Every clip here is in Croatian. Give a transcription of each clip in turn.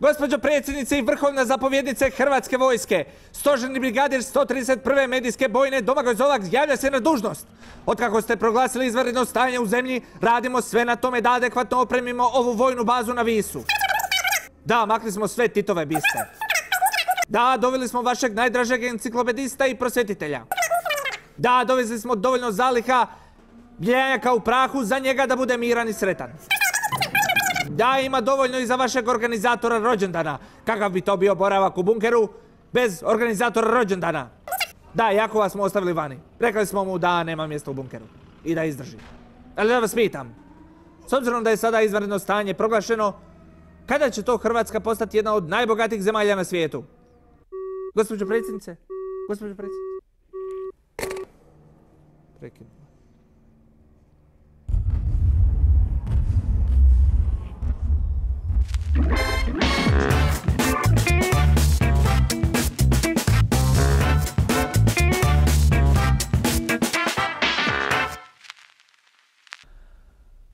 Gospođo predsjednice i vrhovna zapovjednice Hrvatske vojske, stožerni brigadir 131. medijske bojne Domagoj Zolak javlja se na dužnost. Otkako ste proglasili izvanredno stanje u zemlji, radimo sve na tome da adekvatno opremimo ovu vojnu bazu na Visu. Da, makli smo sve Titove biste. Da, doveli smo vašeg najdražeg enciklopedista i prosvjetitelja. Da, dovezli smo dovoljno zaliha bljenjaka u prahu za njega da bude miran i sretan. Da, ima dovoljno i za vašeg organizatora rođendana. Kakav bi to bio boravak u bunkeru bez organizatora rođendana? Da, Jakova smo ostavili vani. Rekli smo mu da nema mjesta u bunkeru i da izdrži. Ali da vas pitam, s obzirom da je sada izvanredno stanje proglašeno, kada će to Hrvatska postati jedna od najbogatijih zemalja na svijetu? Gospođo predsjednice? Gospođo predsjednice? Prekinuo.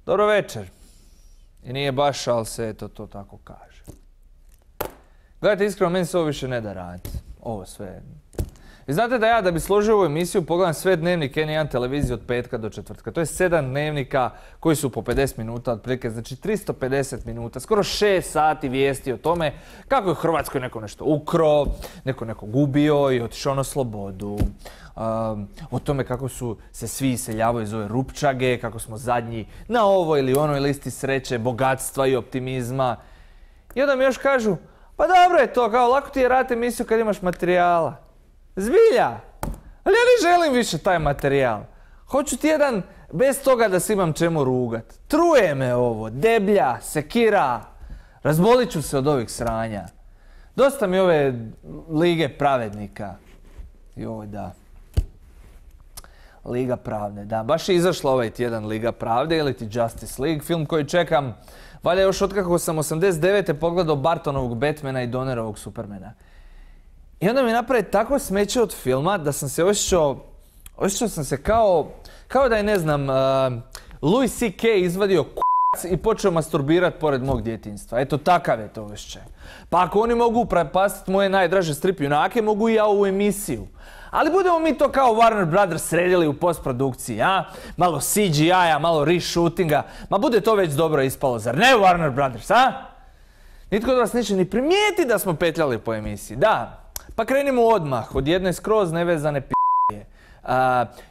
Dobro večer. I nije baš, ali se eto to tako kaže. Gledajte, iskreno, meni se ovo više ne da raditi. Ovo sve. I znate da ja, da bi složio ovu emisiju, pogledam sve dnevnike N1 televizije od petka do četvrtka. To je 7 dnevnika koji su po 50 minuta otprilike, znači 350 minuta, skoro 6 sati vijesti o tome kako je u Hrvatskoj neko nešto ukro, neko gubio i otišao na slobodu. O tome kako su se svi iseljavaju iz ove rupčage, kako smo zadnji na ovoj ili onoj listi sreće, bogatstva i optimizma. I onda mi još kažu, pa dobro je to, kao lako ti je raditi emisiju kad imaš materijala. Zbilja! Ali ja ne želim više taj materijal. Hoću tjedan bez toga da se imam čemu rugat. Truje me ovo, deblja, sekira. Razbolit ću se od ovih sranja. Dosta mi ove lige pravednika. Joj, da. Liga pravde, da. Baš je izašla ovaj tjedan Liga pravde ili ti Justice League, film koji čekam valjda još otkako sam 89. pogledao Bartonovog Batmana i Donnerovog Supermana. I onda mi napravi tako smeće od filma da sam se osjećao sam se kao da je, ne znam, Louis C.K. izvadio k***c i počeo masturbirat pored mog djetinjstva. Eto, takav je to osjećaj. Pa ako oni mogu upropastiti moje najdraže strip junake, mogu i ja ovu emisiju. Ali budemo mi to kao Warner Brothers sredili u postprodukciji, a? Malo CGI-a, malo reshootinga. Ma bude to već dobro ispalo, zar ne Warner Brothers, a? Nitko od vas neće ni primijeti da smo petljali po emisiji, da. Pa krenimo odmah, od jedne skroz nevezane p***je.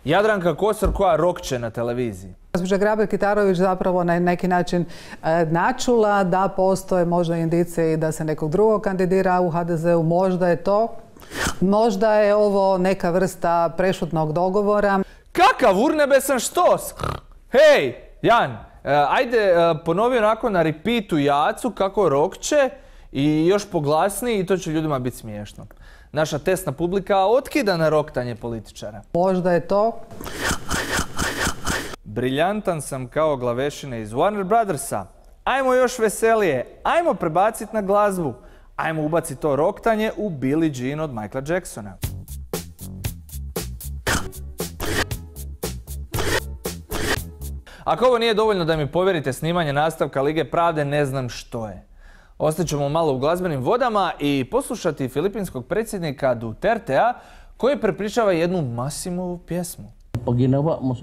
Jadranka Kosor koja rokće na televiziji. Gospođa Grabar-Kitarović zapravo na neki način načula da postoje možda indicije i da se nekog drugog kandidira u HDZ-u. Možda je to. Možda je ovo neka vrsta prešutnog dogovora. Kakav urnebesan štos! Hej, Jan, ajde ponovi onako na repeatu Jacu kako rokće i još poglasniji i to će ljudima biti smiješno. Naša testna publika otkida na roktanje političara. Možda je to. Briljantan sam kao glavešine iz Warner Brothersa. Ajmo još veselije, ajmo prebaciti na glazbu. Ajmo ubaciti to roktanje u Billie Jean od Michaela Jacksona. Ako ovo nije dovoljno da mi povjerite snimanje nastavka Lige pravde, ne znam što je. Ostaćemo malo u glazbenim vodama i poslušati filipinskog predsjednika Dutertea koji prepričava jednu Massimovu pjesmu.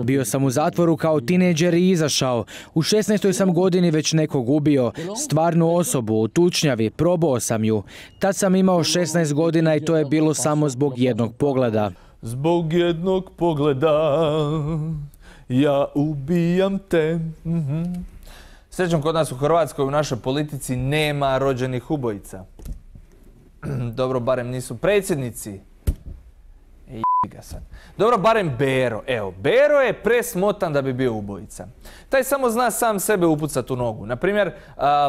Bio sam u zatvoru kao tinejdžer i izašao. U 16. sam godini već nekog ubio. Stvarnu osobu, u tučnjavi, probao sam ju. Tad sam imao 16 godina i to je bilo samo zbog jednog pogleda. Zbog jednog pogleda ja ubijam te. Srećom, kod nas u Hrvatskoj u našoj politici nema rođenih ubojica. Dobro, barem nisu predsjednici. Ga sad. Dobro, barem Bero. Evo, Bero je presmotan da bi bio ubojica. Taj samo zna sam sebe upucat u nogu. Naprimjer,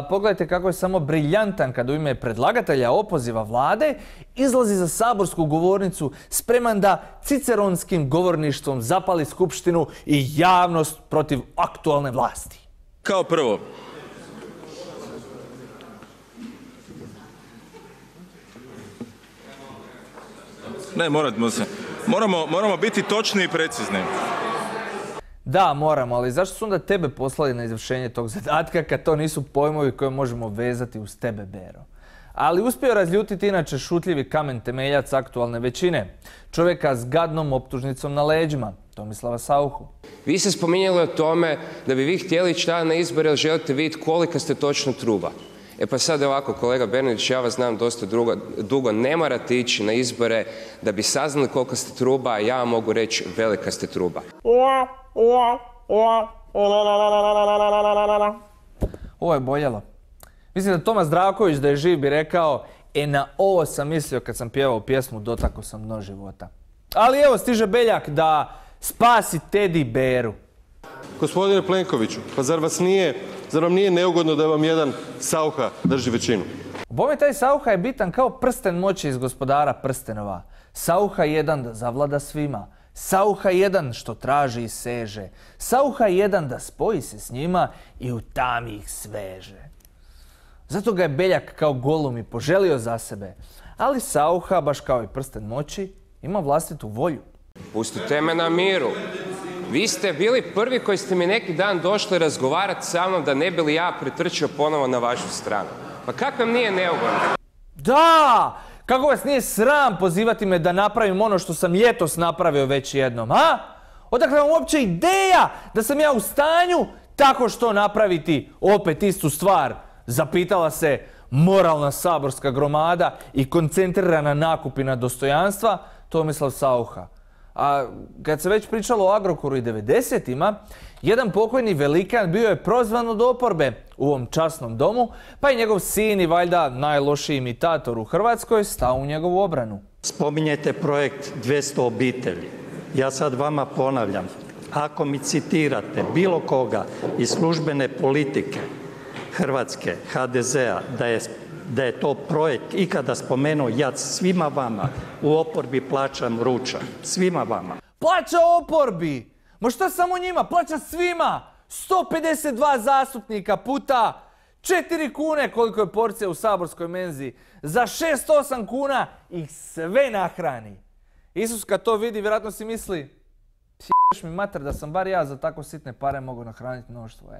pogledajte kako je samo briljantan kad u ime predlagatelja opoziva vlade izlazi za saborsku govornicu spreman da ciceronskim govorništvom zapali skupštinu i javnost protiv aktualne vlasti. Kao prvo, ne, moramo biti točni i precizni. Da, moramo, ali zašto su onda tebe poslali na izvršenje tog zadatka kad to nisu pojmovi koje možemo vezati uz tebe, Bero? ali uspio razljutiti inače šutljivi kamen temeljac aktualne većine, čovjeka s gadnom optužnicom na leđima, Tomislava Sauchu. Vi ste spominjali o tome da bi vi htjeli ići na izbore, jer želite vidjeti kolika ste točno truba. E pa sad ovako, kolega Bernardić, ja vas znam dosta dugo, ne morate ići na izbore da bi saznali koliko ste truba, a ja vam mogu reći velika ste truba. Ovo je boljelo. Mislim da Tomas Zdravković da je živ bi rekao, na ovo sam mislio kad sam pjevao pjesmu Dotakao sam dno života. Ali evo stiže Beljak da spasi Teddy Beru. Gospodine Plenkoviću, pa zar vam nije neugodno da vam jedan Saucha drži većinu? Bome taj Saucha je bitan kao prsten moći iz Gospodara prstenova. Saucha jedan da zavlada svima. Saucha jedan što traži i seže. Saucha jedan da spoji se s njima i u tami ih sveže. Zato ga je Beljak kao Golum i poželio za sebe. Ali Saucha, baš kao i prsten moći, ima vlastitu volju. Pustite me na miru. Vi ste bili prvi koji ste mi neki dan došli razgovarati sa mnom da ne bi li ja pretrčio ponovo na vašu stranu. Pa kako vam nije neugodno? Da! Kako vas nije sram pozivati me da napravim ono što sam ljetos napravio već jednom, a? Odakle vam uopće ideja da sam ja u stanju tako što napraviti opet istu stvar? Zapitala se moralna saborska gromada i koncentrirana nakupina dostojanstva Tomislav Saucha. A kad se već pričalo o Agrokoru i 90-ima, jedan pokojni velikan bio je prozvan od oporbe u ovom časnom domu, pa i njegov sin i valjda najlošiji imitator u Hrvatskoj stao u njegovu obranu. Spominjete projekt 200 obitelji. Ja sad vama ponavljam, ako mi citirate bilo koga iz službene politike Hrvatske, HDZ-a, da je to projekt ikada spomenuo, ja svima vama u oporbi plaćam ručak. Svima vama. Plaća oporbi! Ma šta samo njima? Plaća svima! 152 zastupnika puta 4 kune koliko je porcija u saborskoj menzi. Za 6-8 kuna ih sve nahrani. Isus kad to vidi, vjerojatno si misli, sješ mi mater da sam bar ja za tako sitne pare mogu nahraniti mnoštvo,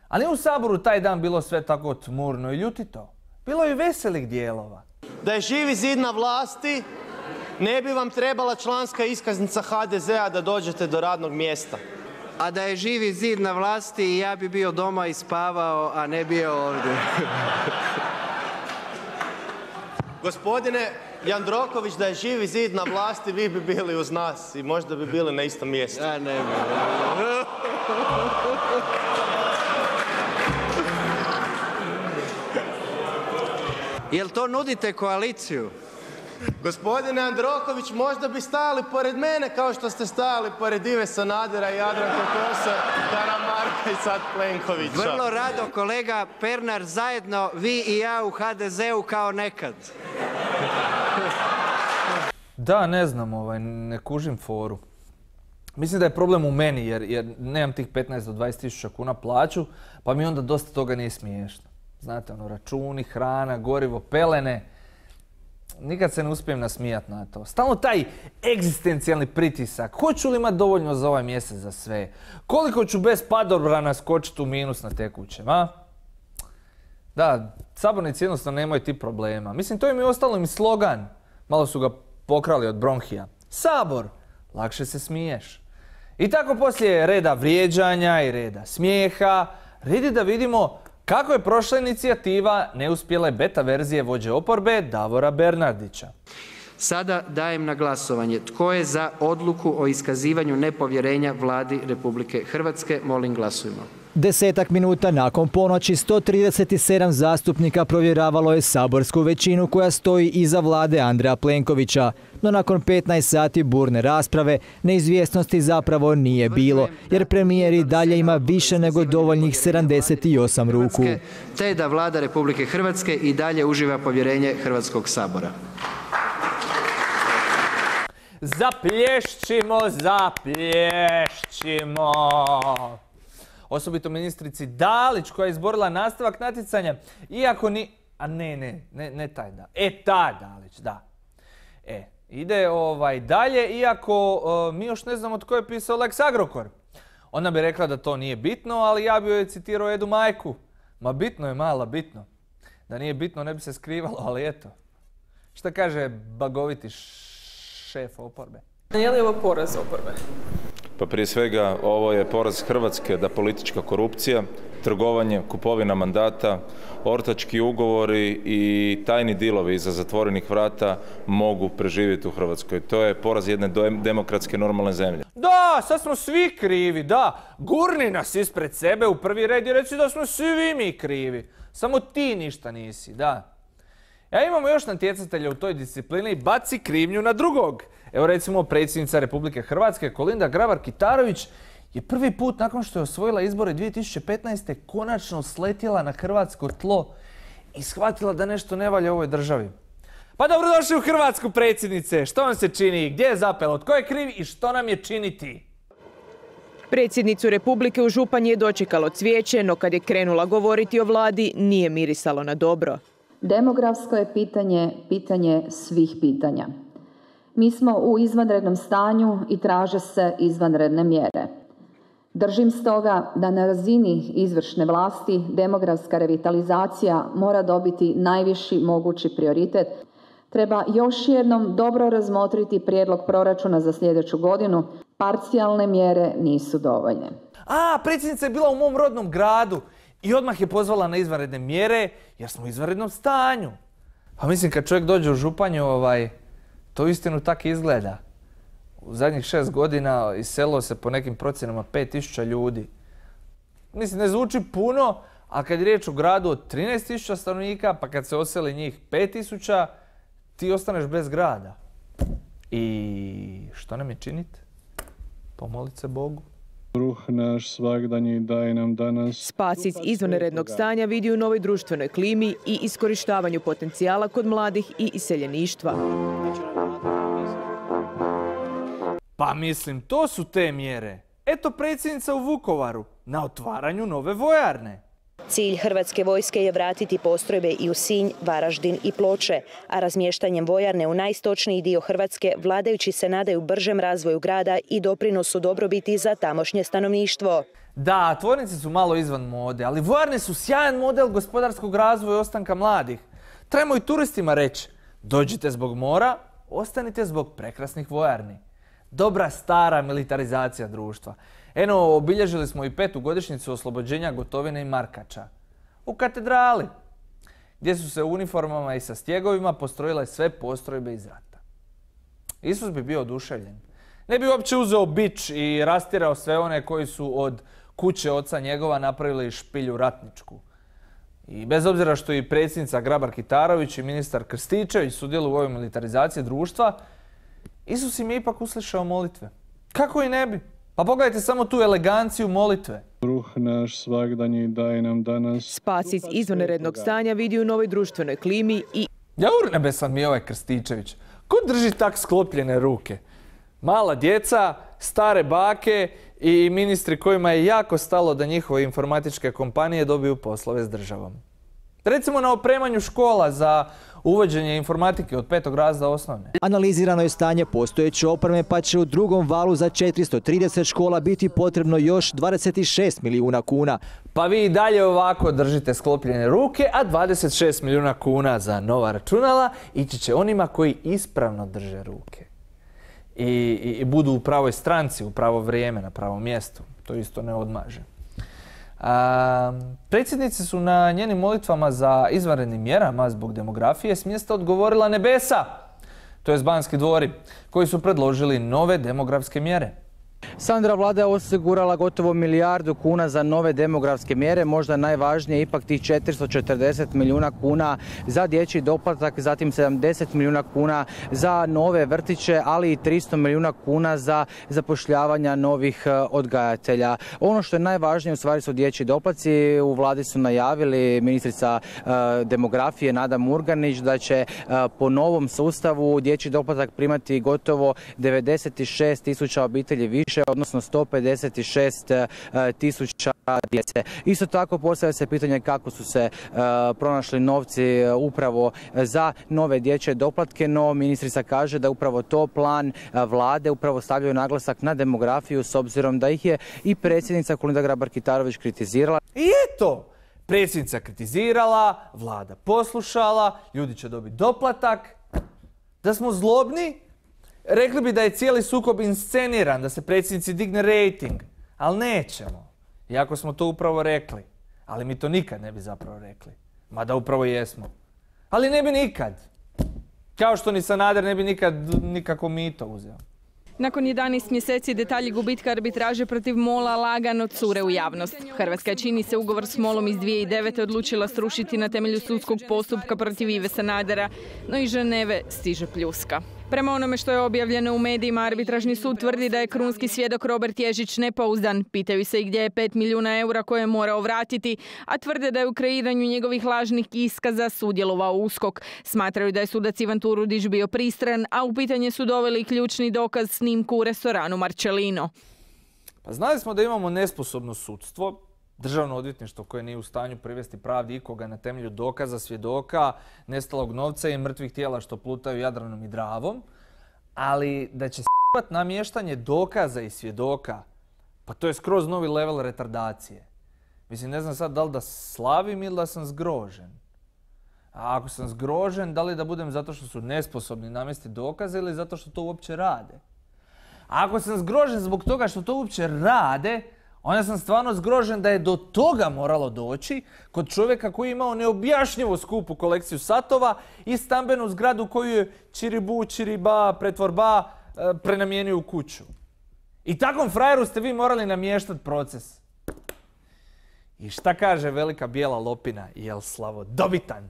Ali u Saboru taj dan bilo sve tako tmurno i ljutito. Bilo je i veselih dijelova. Da je Živi zid na vlasti, ne bi vam trebala članska iskaznica HDZ-a da dođete do radnog mjesta. A da je Živi zid na vlasti, ja bi bio doma i spavao, a ne bio ovdje. Gospodine Jandroković, da je Živi zid na vlasti, vi bi bili uz nas i možda bi bili na istom mjestu. Ja ne bi. Jel to nudite koaliciju? Gospodine Jandroković, možda bi stajali pored mene kao što ste stajali pored Ive Sanadera i Jadranke Kosor, Karamarka i sad Plenkovića. Vrlo rado, kolega Pernar, zajedno vi i ja u HDZ-u kao nekad. Da, ne znam, ne kužim foru. Mislim da je problem u meni jer nemam tih 15 do 20 tisuća kuna plaću, pa mi onda dosta toga nije smiješno. Znate, računi, hrana, gorivo, pelene. Nikad se ne uspijem nasmijat na to. Stalno taj egzistencijalni pritisak. Hoću li imati dovoljno za ovaj mjesec za sve? Koliko ću bez padobrana skočiti u minus na tekućem, a? Da, sabornici jednostavno nemaju ti problema. Mislim, to im je ostalo im slogan. Malo su ga pokrali od bronhija. Sabor, lakše se smiješ. I tako poslije reda vrijeđanja i reda smijeha, redi da vidimo kako je prošla inicijativa neuspjele beta verzije vođe oporbe Davora Bernardića. Sada dajem na glasovanje. Tko je za odluku o iskazivanju nepovjerenja Vladi Republike Hrvatske? Molim, glasujmo. 10 minuta nakon ponoći 137 zastupnika provjeravalo je saborsku većinu koja stoji iza vlade Andreja Plenkovića. No nakon 15 sati burne rasprave neizvjesnosti zapravo nije bilo, jer premijer i dalje ima više nego dovoljnih 78 ruku. Te da Vlada Republike Hrvatske i dalje uživa povjerenje Hrvatskog sabora. Zaplješćimo, zaplješćimo. Osobito ministrici Dalić koja je izborila nastavak natjecanja, iako ni... A ne taj da. Ta Dalić, da. Ide dalje, iako mi još ne znamo tko je pisao Lex Agrokor. Ona bi rekla da to nije bitno, ali ja bi joj citirao Edu majku. Ma bitno je, mala, bitno. Da nije bitno ne bi se skrivalo, ali eto. Šta kaže bagoviti šef oporbe? Je li ovo poraz oporbe? Pa prije svega ovo je poraz Hrvatske da politička korupcija, trgovanje, kupovina mandata, ortački ugovori i tajni dilovi iza zatvorenih vrata mogu preživjeti u Hrvatskoj. To je poraz jedne demokratske normalne zemlje. Da, sad smo svi krivi, da. Gurni nas ispred sebe u prvi red i reci da smo svi mi krivi. Samo ti ništa nisi, da. Ja imamo još natjecatelja u toj disciplini i baci krivnju na drugog. Evo recimo predsjednica Republike Hrvatske Kolinda Grabar-Kitarović je prvi put nakon što je osvojila izbore 2015. konačno sletjela na hrvatsko tlo i shvatila da nešto ne valja u ovoj državi. Pa dobrodošli u Hrvatsku, predsjednice. Što vam se čini? Gdje je zapelo? Tko je kriv i što nam je činiti? Predsjednicu Republike u Županji je dočekalo cvijeće, no kad je krenula govoriti o vladi, nije mirisalo na dobro. Demografsko je pitanje svih pitanja. Mi smo u izvanrednom stanju i traže se izvanredne mjere. Držim stoga da na razini izvršne vlasti demografska revitalizacija mora dobiti najviši mogući prioritet. Treba još jednom dobro razmotriti prijedlog proračuna za sljedeću godinu. Parcijalne mjere nisu dovoljne. Predsjednica je bila u mom rodnom gradu i odmah je pozvala na izvanredne mjere jer smo u izvanrednom stanju. Pa mislim kad čovjek dođe u Županju, to uistinu tako izgleda. U zadnjih 6 godina iselilo se po nekim procjenama 5000 ljudi. Mislim, ne zvuči puno, a kad je riječ o gradu od 13.000 stanovnika, pa kad se oseli njih 5000, ti ostaneš bez grada. I što nam je činiti? Pomolit se Bogu. Kruh naš svagdanji daj nam danas. Spas iz izvanrednog stanja vidi u novoj društvenoj klimi i iskorištavanju potencijala kod mladih i iseljeništva. Pa mislim, to su te mjere. Eto predsjednica u Vukovaru na otvaranju nove vojarne. Cilj Hrvatske vojske je vratiti postrojbe i u Sinj, Varaždin i Ploče, a razmještanjem vojarne u najistočniji dio Hrvatske vladajući se nadaju bržem razvoju grada i doprinosu dobrobiti za tamošnje stanovništvo. Da, tvornice su malo izvan mode, ali vojarne su sjajan model gospodarskog razvoja i ostanka mladih. Trebamo i turistima reći, dođite zbog mora, ostanite zbog prekrasnih vojarni. Dobra stara militarizacija društva. Eno, obilježili smo i 5. godišnjicu oslobođenja Gotovine i Markača. U katedrali, gdje su se u uniformama i sa stjegovima postrojile sve postrojbe iz rata. Isus bi bio oduševljen. Ne bi uopće uzeo bič i rastirao sve one koji su od kuće oca njegova napravili špilju ratničku. I bez obzira što i predsjednica Grabar-Kitarović i ministar Krstičević sudjeluju u ovoj militarizaciji društva, Isus im je ipak uslišao molitve. Kako i ne bi? Pa pogledajte samo tu eleganciju molitve. Kruh naš svagdanji daj nam danas. Spas iz izvanrednog stanja vidi u novoj društvenoj klimi i... Jaurnebesan mi je ovaj Krstičević. Ko drži tak sklopljene ruke? Mala djeca, stare bake i ministri kojima je jako stalo da njihove informatičke kompanije dobiju poslove s državom. Recimo na opremanju škola za uvođenje informatike od 5. razreda osnovne. Analizirano je stanje postojeće opreme pa će u drugom valu za 430 škola biti potrebno još 26 milijuna kuna. Pa vi i dalje ovako držite sklopljene ruke, a 26 milijuna kuna za nova računala ići će onima koji ispravno drže ruke. I budu u pravoj stranci, u pravo vrijeme, na pravom mjestu. To isto ne odmaže. Predsjednice su na njenim molitvama za izvanrednim mjerama zbog demografije s mjesta odgovorila Nebesa, to je Banski dvori, koji su predložili nove demografske mjere. Sandra vlada je osigurala gotovo milijardu kuna za nove demografske mjere, možda najvažnije ipak tih 440 milijuna kuna za dječji doplatak, zatim 70 milijuna kuna za nove vrtiće, ali i 300 milijuna kuna za zapošljavanja novih odgajatelja. Ono što je najvažnije u stvari su dječji doplatci. U vladi su najavili ministrica demografije Nada Murganić da će po novom sustavu dječji doplatak primati gotovo 96 tisuća obitelji više, odnosno 156 tisuća djece. Isto tako postavlja se pitanje kako su se pronašli novci upravo za nove dječje doplatke, no ministrica kaže da upravo to plan vlade, upravo stavljaju naglasak na demografiju s obzirom da ih je i predsjednica Kolinda Grabar-Kitarović kritizirala. I eto, Predsjednica kritizirala, vlada poslušala, ljudi će dobiti doplatak. Da smo zlobni, rekli bi da je cijeli sukob insceniran, da se predsjednici digne rejting. Ali nećemo. Iako smo to upravo rekli. Ali mi to nikad ne bi zapravo rekli. Mada upravo jesmo. Ali ne bi nikad. Kao što ni Sanader ne bi nikad nikako mito uzeo. Nakon 11 mjeseci detalji gubitka arbitraže protiv MOL-a lagano cure u javnost. Hrvatska je, čini se, ugovor s MOL-om iz 2009. odlučila srušiti na temelju sudskog postupka protiv Ive Sanadera, no iz Ženeve stiže pljuska. Prema onome što je objavljeno u medijima, arbitražni sud tvrdi da je krunski svjedok Robert Ježić nepouzdan. Pitaju se i gdje je 5 milijuna eura koje je morao vratiti, a tvrde da je u kreiranju njegovih lažnih iskaza sudjelovao USKOK. Smatraju da je sudac Ivan Turudić bio pristran, a u pitanje su doveli ključni dokaz snimku u restoranu Marcelino. Pa znali smo da imamo nesposobno sudstvo, državno odvjetništvo koje nije u stanju privesti pravdi ikoga na temelju dokaza, svjedoka, nestalog novca i mrtvih tijela što plutaju Jadranom i Dravom, ali da će s***at namještanje dokaza i svjedoka, pa to je skroz novi level retardacije. Mislim, ne znam sad da li da slavim ili da sam zgrožen. A ako sam zgrožen, da li da budem zato što su nesposobni namjestiti dokaze ili zato što to uopće rade? A ako sam zgrožen zbog toga što to uopće rade, onda sam stvarno zgrožen da je do toga moralo doći kod čovjeka koji je imao neobjašnjivo skupu kolekciju satova i stambenu zgradu koju je čiribu, čiriba, pretvorba prenamijenio u kuću. I takvom frajeru ste vi morali namještati proces. I šta kaže velika bijela lopina? Jel slavodobitan?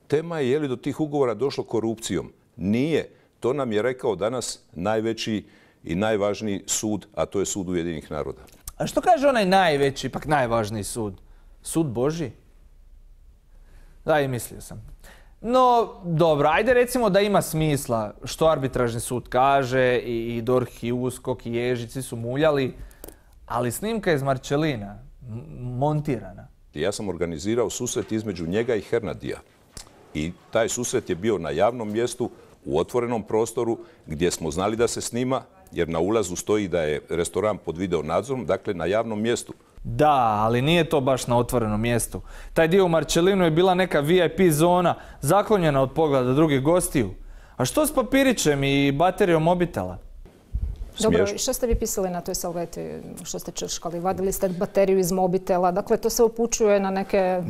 Tema je li do tih ugovora došlo korupcijom. Nije. To nam je rekao danas najveći i najvažniji sud, a to je sud Ujedinjenih naroda. A što kaže onaj najveći, ipak najvažniji sud? Sud Božji? Da, i mislio sam. No, dobro, ajde recimo da ima smisla što arbitražni sud kaže i DORH i USKOK i Ježić, svi su muljali, ali snimka iz Marcelina, montirana. Ja sam organizirao susret između njega i Hernadija. I taj susret je bio na javnom mjestu, u otvorenom prostoru, gdje smo znali da se snima, jer na ulazu stoji da je restoran pod video nadzorom, dakle na javnom mjestu. Da, ali nije to baš na otvorenom mjestu. Taj dio u Marcelinu je bila neka VIP zona, zaklonjena od pogleda drugih gostiju. A što s papirićem i baterijom mobitela? Dobro, što ste vi pisali na toj salveti? Što ste črškali? Vadili ste bateriju iz mobitela? Dakle, to se upućuje na neke...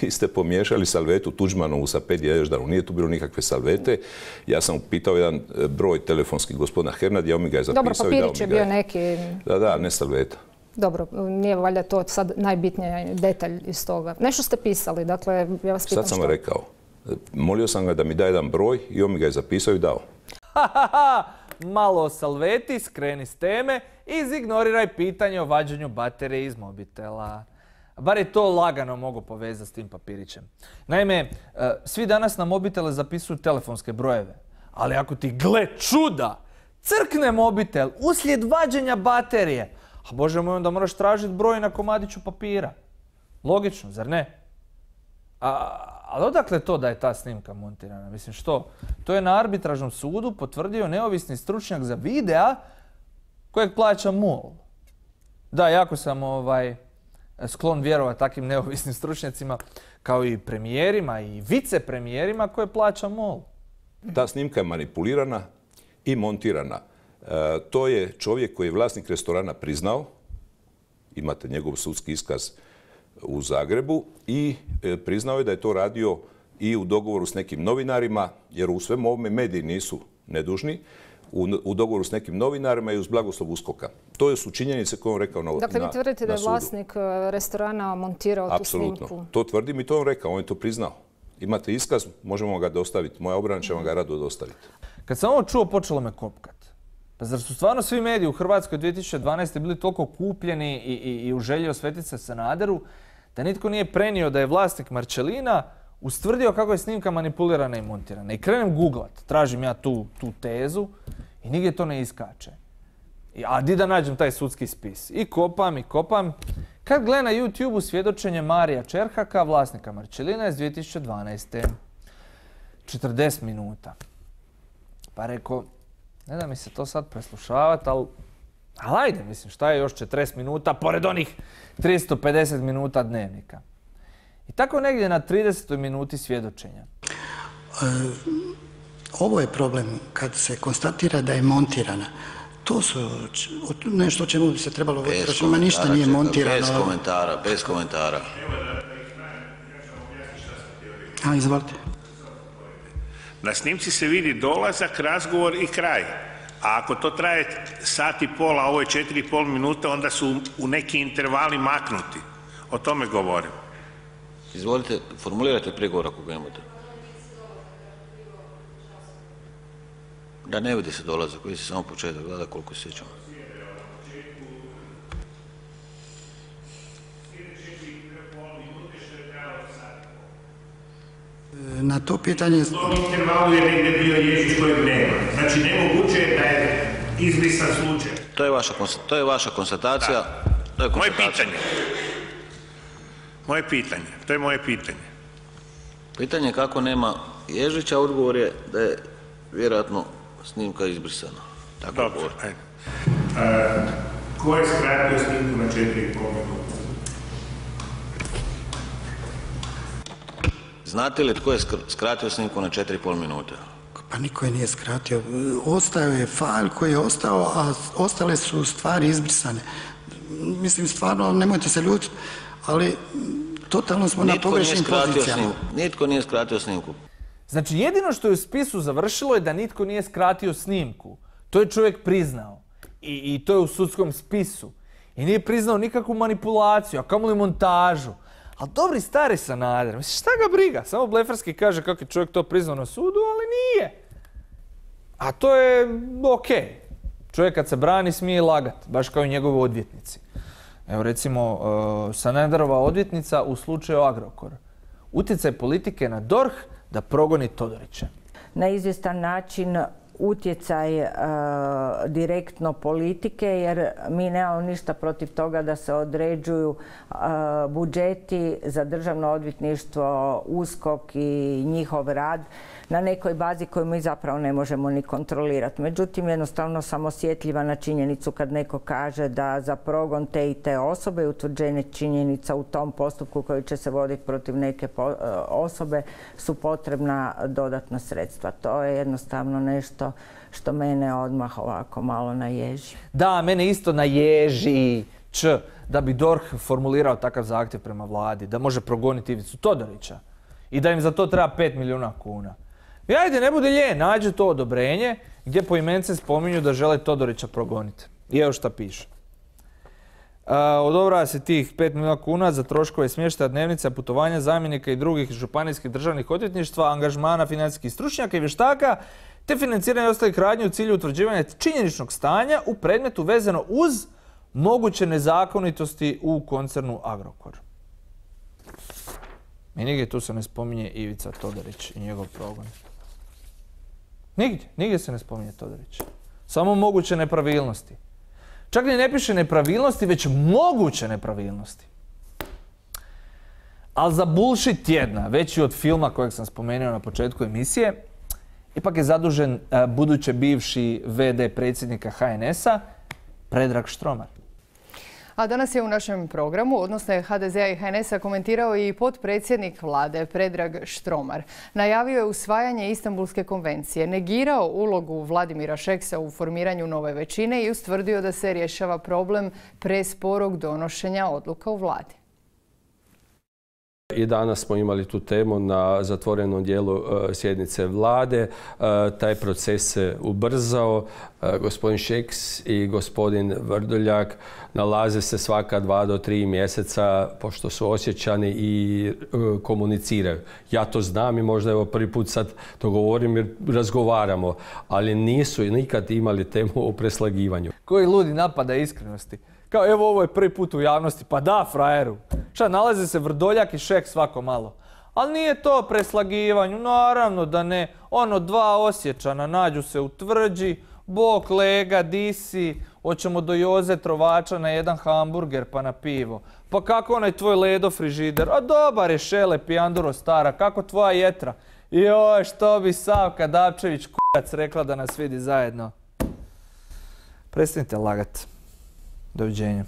Vi ste pomiješali salvetu Tuđmanovu sa Pedi Ježdaru. Nije tu bilo nikakve salvete. Ja sam pitao jedan broj telefonski gospodina Hernadija, on mi ga je zapisao. Dobro, papirić je bio neki... Da, ne salveta. Dobro, nije valjda to sad najbitniji detalj iz toga. Nešto ste pisali, dakle, ja vas pitam što... Sad sam rekao. Molio sam ga da mi da jedan broj i on mi ga je zapisao i dao. Malo o salveti, skreni s teme i izignoriraj pitanje o vađenju baterije iz mobitela. Bar je to lagano mogu povezati s tim papirićem. Naime, svi danas na mobitele zapisuju telefonske brojeve. Ali ako ti, gle čuda, crkne mobitel uslijed vađenja baterije, a Bože moj, onda moraš tražiti broj na komadiću papira. Logično, zar ne? Ali odakle to da je ta snimka montirana? Mislim što? To je na arbitražnom sudu potvrdio neovisni stručnjak za videa kojeg plaća MOL. Da, jako sam sklon vjerovati takvim neovisnim stručnjacima kao i premijerima i vicepremijerima koje plaća MOL. Ta snimka je manipulirana i montirana. To je čovjek koji je vlasnik restorana priznao. Imate njegov sudski iskaz u Zagrebu i priznao je da je to radio i u dogovoru s nekim novinarima, jer u svemu ovome mediji nisu nedužni, u dogovoru s nekim novinarima i uz blagoslov USKOK-a. To su činjenice koje on rekao na sudu. Dakle, vi tvrdite da je vlasnik restorana montirao tu snimku? Apsolutno. To tvrdim i to on rekao, on je to priznao. Imate iskaz, možemo ga dostaviti. Moja obrana će vam ga rado dostaviti. Kad sam ovo čuo, počelo me kopkat. Pa zar su stvarno svi mediji u Hrvatskoj 2012. bili toliko kupljeni i u želji osvetiti se Sanaderu, da nitko nije prenio da je vlasnik Marcelina ustvrdio kako je snimka manipulirana i montirana. I krenem googlat, tražim ja tu tezu i nigdje to ne iskače. A di da nađem taj sudski spis? I kopam. Kad gledam na YouTube-u svjedočenje Marija Čerhaka, vlasnika Marcelina iz 2012. 40 minuta. Pa rekao, ne da mi se to sad preslušavati, ali Ali ajde, mislim, šta je još 40 minuta pored onih 350 minuta dnevnika. I tako negdje na 30. minuti svjedočenja. Ovo je problem kad se konstatira da je montirana. To su nešto o čemu bi se trebalo voditi računa, ništa nije montirano. Bez komentara. Izvolite. Na snimci se vidi dolazak, razgovor i kraj. A ako to traje sat i pol, a ovo je 4,5 minuta, onda su u neki intervali maknuti. O tome govorim. Izvolite, formulirajte prigovor ako ga imate. Da ne vidi se dolazak, vidi se samo početak, gleda koliko se sjećamo. Na to pitanje... U tom intervalu je negdje bio Ježić kojeg nema. Znači, nemoguće je da je izbrisan slučaj. To je vaša konstatacija. Moje pitanje. To je moje pitanje. Pitanje je kako nema Ježića, odgovor je da je vjerojatno snimka izbrisana. Dobro, ajde. Ko je skratio snimku na 4,5 minuta? Znate li tko je skratio snimku na 4,5 minuta? Pa niko je nije skratio. Ostao je fajl koji je ostao, a ostale su stvari izbrisane. Mislim, stvarno, nemojte se ljutiti, ali totalno smo na pogrešnim pozicijama. Nitko nije skratio snimku. Znači, jedino što je u spisu završilo je da nitko nije skratio snimku. To je čovjek priznao. I to je u sudskom spisu. I nije priznao nikakvu manipulaciju, a kamoli montažu. Ali dobri stari Sanader, mislim, šta ga briga? Samo blefarski kaže kako je čovjek to priznao na sudu, ali nije. A to je okej. Čovjek kad se brani smije lagat, baš kao i njegovi odvjetnici. Evo recimo, Sanaderova odvjetnica u slučaju Agrokor. Utjecaj politike na DORH da progoni Todorića. Na izvjestan način utjecaj direktno politike, jer mi nemamo ništa protiv toga da se određuju budžeti za državno odvjetništvo, USKOK i njihov rad na nekoj bazi koju mi zapravo ne možemo ni kontrolirati. Međutim, jednostavno sam osjetljiva na činjenicu kad neko kaže da za progon te i te osobe i utvrđenje činjenica u tom postupku koji će se voditi protiv neke osobe su potrebna dodatna sredstva. To je jednostavno nešto što mene odmah ovako malo naježi. Da, mene isto naježi da bi DORH formulirao takav zahtjev prema vladi, da može progoniti Ivicu Todorića i da im za to treba 5 milijuna kuna. I ajde, ne bude ljen, nađe to odobrenje gdje poimence spominju da žele Todorića progoniti. I evo šta piše. Odobrava se tih 5 milijuna kuna za troškove smještaja, dnevnica, putovanja zamjenika i drugih županijskih državnih odvjetništva, angažmana financijskih stručnjaka i vještaka, te financiranje ostalih radnji u cilju utvrđivanja činjeničnog stanja u predmetu vezano uz moguće nezakonitosti u koncernu Agrokor. I nigdje tu se ne spominje Ivica Todorić i njegov progon. Nigdje se ne spominje Todorić. Samo moguće nepravilnosti. Čak ni ne piše nepravilnosti, već moguće nepravilnosti. Ali za bullshit tjedna, veći od filma kojeg sam spomenuo na početku emisije, ipak je zadužen budući bivši VD predsjednika HNS-a, Predrag Štromar. A danas je u našem programu, odnosno HDZ-a i HNS-a, komentirao i potpredsjednik vlade Predrag Štromar. Najavio je usvajanje Istanbulske konvencije, negirao ulogu Vladimira Šeksa u formiranju nove većine i ustvrdio da se rješava problem presporog donošenja odluka u vladi. I danas smo imali tu temu na zatvorenom dijelu sjednice vlade. Taj proces se ubrzao. Gospodin Šeks i gospodin Vrdoljak nalaze se svaka 2 do 3 mjeseca, pošto su osjećani i komuniciraju. Ja to znam i možda evo prvi put sad to govorim jer razgovaramo, ali nisu nikad imali temu o preslagivanju. Koji ludi napada iskrenosti. Kao evo ovo je prvi put u javnosti, pa da frajeru. Šta, nalaze se Vrdoljak i Šeks svako malo. Ali nije to preslagivanju, naravno da ne. Ono, 2 Osječana nađu se u tvrđi, bok lega, disi, hoćemo do Joze Trovača na jedan hamburger pa na pivo. Pa kako onaj tvoj ledo frižider? A dobar je Šele Pijanduro stara, kako tvoja jetra? Joj, što bi Savka Dapčević kurac rekla da nas vidi zajedno. Prestanite lagat. Doviđenja.